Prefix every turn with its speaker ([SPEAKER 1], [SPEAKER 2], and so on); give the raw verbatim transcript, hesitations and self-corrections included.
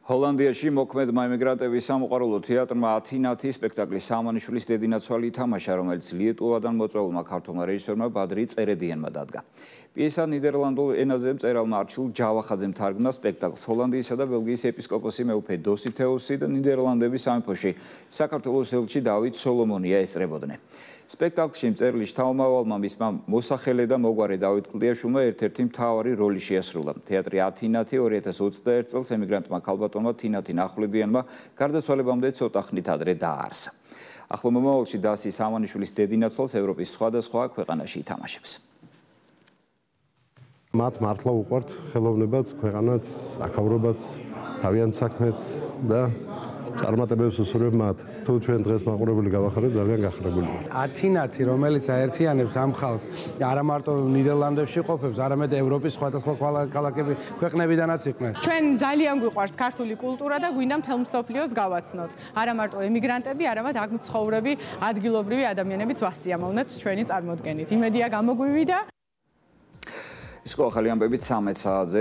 [SPEAKER 1] ჰოლანდიაში მოქმედმა ემიგრანტების სამოყვარულო თეატრმა ათინათი სპექტაკლი სამანიშვილის დედინაცვალი ითამაშა, რომელიც ლიეტუვადან მოწვეულმა ქართველმა რეჟისორმა ბადრი წერედიანმა დადგა. პიესა ნიდერლანდურ ენაზე მწერალმა არჩილ ჯავახაძემ თარგმნა სპექტაკლს. ჰოლანდიისა და ბელგიის ეპისკოპოსი მეუფე დოსითეუსი და ნიდერლანდების სამეფოში საქართველოს ელჩი დავით სოლომონია ესწრებოდნენ. სპექტაკლში მწერლის შთამომავალმა მისმა მოსახელე და მოგვარე დავით კლდიაშვილმა ერთ-ერთი მთავარი როლი შეასრულა. თეატრი ათინათი ორი ათას ოცდაერთ წელს ემიგრანტმა ქალბატონმა თინათი ნახვლედიანმა გარდაცვალებამდე ცოტა ხნით ადრე დააარსა. ახლო მომავალში დასი სამანიშვილის დედინაცვალს ევროპის სხვადასხვა ქვეყანაში ითამაშებს.
[SPEAKER 2] მათ მართლა უყვართ ხელოვნებაც, ქვეყანაც, აქაურობაც, თავიანთ საქმეც და წარმატებებს უსურვებ მათ. თუ ჩვენ დღეს მაყურებელი გავახარეთ, ძალიან გახრებული ვართ.
[SPEAKER 3] ათინათი, რომელიც აერთიანებს ამ ხალხს, არა მარტო ნიდერლანდებში ყოფებს, არამედ ევროპის სხვადასხვა ქალაქები ქვეყნებიდანაც იყვნენ.
[SPEAKER 4] ჩვენ ძალიან გვიყვარს ქართული კულტურა და გვინდა მთელ მსოფლიოს გავაცნოთ. არა მარტო ემიგრანტები, არამედ აქ მცხოვრები ადგილობრივი ადამიანებიც ვასიამოვნებთ ჩვენი წარმოდგენით. იმედია გამოგვივიდა.
[SPEAKER 1] ის ხო ახალი ამბებით ცამეტ საათზე